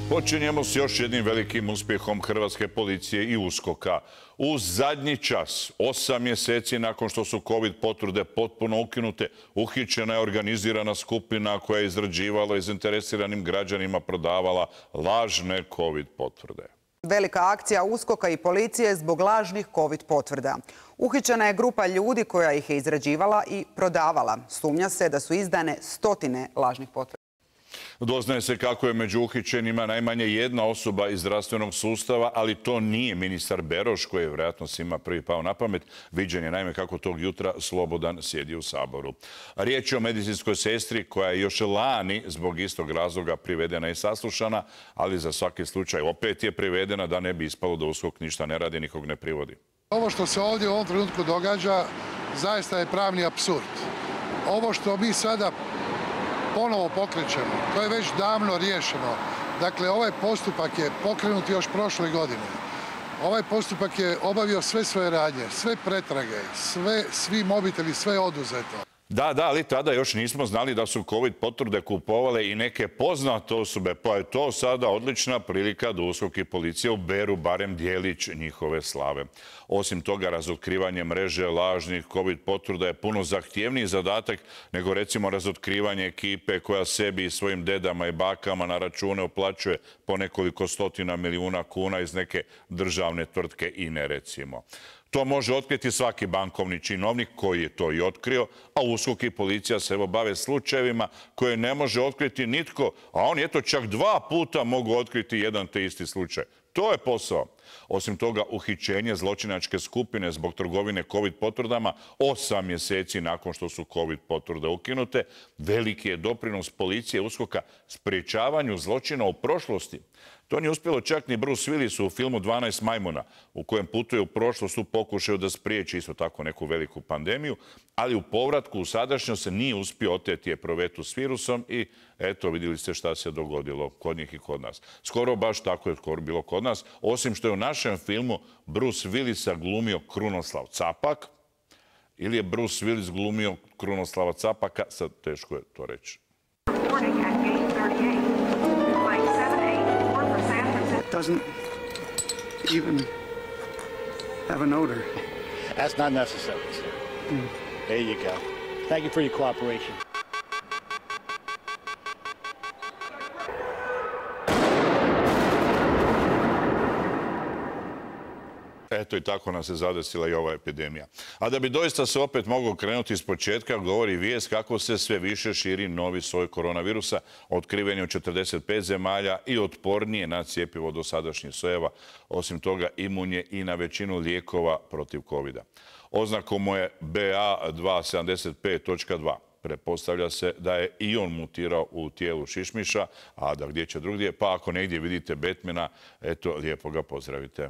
Počinjemo s još jednim velikim uspjehom hrvatske policije i USKOK-a. U zadnji čas, 8 mjeseci nakon što su COVID potvrde potpuno ukinute, uhićena je organizirana skupina koja je izrađivala i zainteresiranim građanima prodavala lažne COVID potvrde. Velika akcija USKOK-a i policije zbog lažnih COVID potvrda. Uhićena je grupa ljudi koja ih je izrađivala i prodavala. Sumnja se da su izdane stotine lažnih potvrda. Doznaje se kako je među uhićenima najmanje jedna osoba iz zdravstvenog sustava, ali to nije ministar Beroš, koji je vjerojatno svima prvi pao na pamet. Viđen je naime kako tog jutra slobodan sjedi u Saboru. Riječ je o medicinskoj sestri koja je još lani zbog istog razloga privedena i saslušana, ali za svaki slučaj opet je privedena da ne bi ispalo da USKOK ništa ne radi, nikog ne privodi. Ovo što se ovdje u ovom trenutku događa zaista je pravni apsurd. Ovo što mi sada ponovo pokrećemo, to je već davno riješeno. Dakle, ovaj postupak je pokrenut još prošle godine. Ovaj postupak je obavio sve svoje radnje, sve pretrage, svi mobiteli, sve je oduzeto. Da, ali tada još nismo znali da su COVID potvrde kupovale i neke poznate osobe, pa je to sada odlična prilika da USKOK i policija uberu barem dijelić njihove slave. Osim toga, razotkrivanje mreže lažnih COVID potvrda je puno zahtjevniji zadatak nego recimo razotkrivanje ekipe koja sebi i svojim dedama i bakama na račune uplaćuje po nekoliko stotina milijuna kuna iz neke državne tvrtke INE recimo. To može otkriti svaki bankovni činovnik koji je to i otkrio, a USKOK i policija se evo bave slučajevima koje ne može otkriti nitko, a oni eto čak 2 puta mogu otkriti jedan te isti slučaj. To je posao. Osim toga, uhićenje zločinačke skupine zbog trgovine COVID potvrdama 8 mjeseci nakon što su COVID potvrde ukinute, veliki je doprinos policije USKOK-a sprječavanju zločina u prošlosti. To nije uspjelo čak ni Bruce Willisu u filmu 12 majmuna, u kojem putuje u prošlost u pokušaju da spriječi isto tako neku veliku pandemiju, ali u povratku u sadašnjost se nije uspio oteti eprovetu s virusom i eto, vidjeli ste šta se dogodilo kod njih i kod nas. Skoro baš tako je skoro bilo kod nas, osim što je u našem filmu Bruce Willisa glumio Krunoslav Capak, ili je Bruce Willis glumio Krunoslava Capaka, sad teško je to reći. Doesn't even have an odor. That's not necessary, sir. There you go. Thank you for your cooperation. Eto i tako nas je zadesila i ova epidemija. A da bi doista se opet moglo krenuti iz početka, govori vijest kako se sve više širi novi soj koronavirusa, otkriven je u 45 zemalja i otpornije na cjepivo dosadašnjih sojeva. Osim toga, imun je i na većinu lijekova protiv COVID-a. Oznakom mu je BA275.2. Pretpostavlja se da je i on mutirao u tijelu šišmiša, a da gdje će drugdje, pa ako negdje vidite Batmana, eto, lijepo ga pozdravite.